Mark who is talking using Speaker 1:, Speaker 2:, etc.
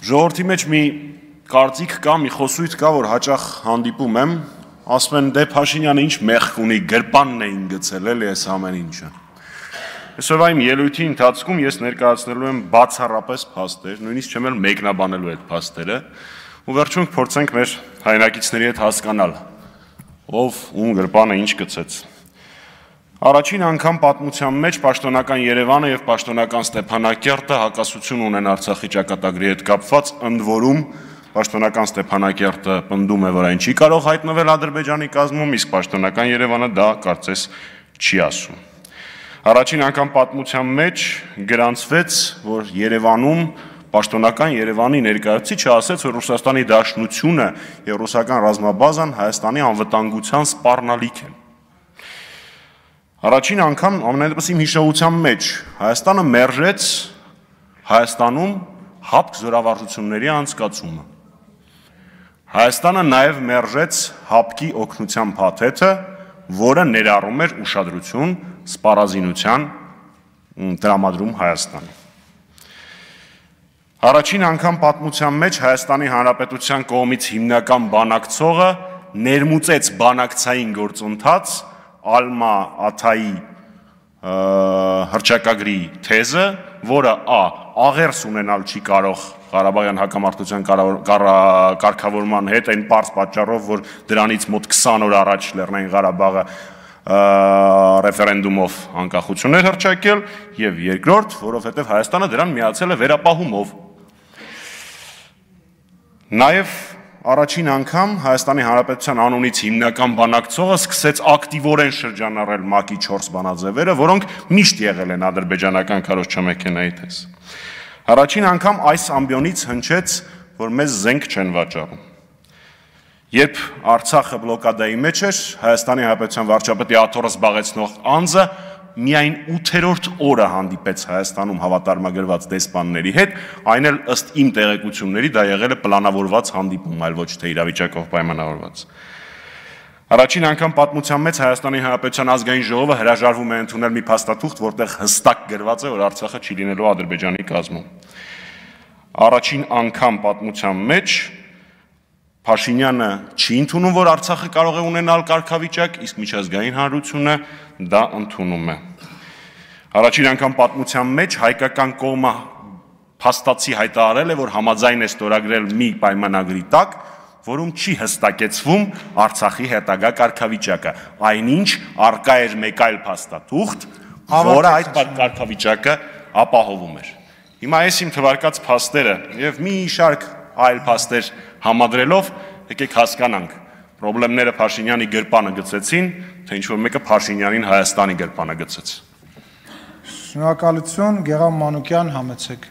Speaker 1: Ժողովրդի մեջ մի կարծիք կա, մի խոսույթ կա, որ հաճախ հանդիպում եմ, ասում են դե Փաշինյանը ինչ մեղք ունի, գրպանն էին գցել էլի այս ամեն ինչը։ Այսօրվա իմ ելույթի ընթացքում ես ներկայացնելու եմ բացառապես փաստեր, նույնիսկ չեմ էլ մեկնաբանելու այդ փաստերը, ու վերջում կփորձենք մեր հայրենակիցների հետ հասկանալ, ով ում գրպանը ինչ գցեց։ Առաջին անգամ պատմության մեջ պաշտոնական Երևանը եւ պաշտոնական Ստեփանակերտը հակասություն ունեն Արցախի ճակատագրի հետ կապված, ընդ որում պաշտոնական Ստեփանակերտը պնդում է, որ այն չի կարող հայտնվել Ադրբեջանի կազմում, իսկ պաշտոնական Երևանը դա կարծես չի ասում։ Առաջին անգամ պատմության մեջ գրանցվեց, որ Երևանում պաշտոնական Երևանի ներկայացուցիչը ասաց, որ Ռուսաստանի Դաշնությունը եւ ռուսական ռազմաբազան Հայաստանի անվտանգության սպառնալիք են։ Առաջին անգամ ամենայնպես իմ հիշողության մեջ Հայաստանը մերժեց Հայաստանում հապկ զորավարժությունների անցկացումը։ Հայաստանը նաև մերժեց հապկի օգնության փաթեթը, որը ներառում էր ուշադրություն սպառազինության տրամադրում Հայաստանի։ Առաջին անգամ պատմության մեջ Հայաստանի Հանրապետության կողմից հիմնական բանակցողը ներմուծեց բանակցային գործընթաց Ալմա Աթայի հռչակագրի թեզը, որը աղերս ունենալ չի կարող Ղարաբաղյան հակամարտության կարգավորման հետ, այն պարզ պատճառով, որ դրանից մոտ 20 օր առաջ Լեռնային Ղարաբաղը ռեֆերենդումով անկախություն էր հռչակել, եւ երկրորդ, որովհետեւ Հայաստանը դրան միացել է վերապահումով։ Նաև առաջին անգամ Հայաստանի Հանրապետության անունից հիմնական բանակցողը սկսեց ակտիվորեն շրջանառել ՄԱԿ-ի 4 բանաձևերը, որոնք միշտ եղել են ադրբեջանական քարոզչամեքենայի թես։ Առաջին անգամ այս ամբիոնից հնչեց, որ մեզ զենք չեն վաճառում։ Երբ Արցախը բլոկադայի մեջ էր, Հայաստանի Հանրապետության վարչապետի աթոռը զբաղեցնող անձը միայն 8-րդ օրը հանդիպեց Հայաստանում հավատարմագրված դեսպանների հետ, այն էլ ըստ իմ տեղեկությունների դա եղել է պլանավորված հանդիպում, այլ ոչ թե իրավիճակով պայմանավորված։ Առաջին անգամ պատմության մեջ Հայաստանի Հանրապետության ազգային ժողովը հրաժարվում է ընդունել մի փաստաթուղթ, որտեղ հստակ գրված է, որ Արցախը չի լինելու Ադրբեջանի կազմում։ Առաջին անգամ պատմության մեջ Փաշինյանը չի ընդունում, որ Արցախը կարող է ունենալ կարգավիճակ, իսկ միջազգային հանրությունը դա ընդունում է։ Առաջին անգամ պատմության մեջ հայկական կողմը փաստացի հայտարարել է, որ համաձայն է ստորագրել մի պայմանագրի տակ, որում չի հստակեցվում Արցախի հետագա կարգավիճակը, այնինչ արկա էր մեկ այլ փաստաթուղթ, որը այդ կարգավիճակը ապահովում էր։ Հիմա այս իմ թվարկած փաստերը եւ մի շարք այլ փաստեր համադրելով եկեք հասկանանք, պրոբլեմները Փաշինյանի գրպանը գցեցին, թե ինչ-որ մեկը Փաշինյանին Հայաստանի գրպանը գցեց։
Speaker 2: Շնորհակալություն, Գեղամ Մանուկյան, համեցեք։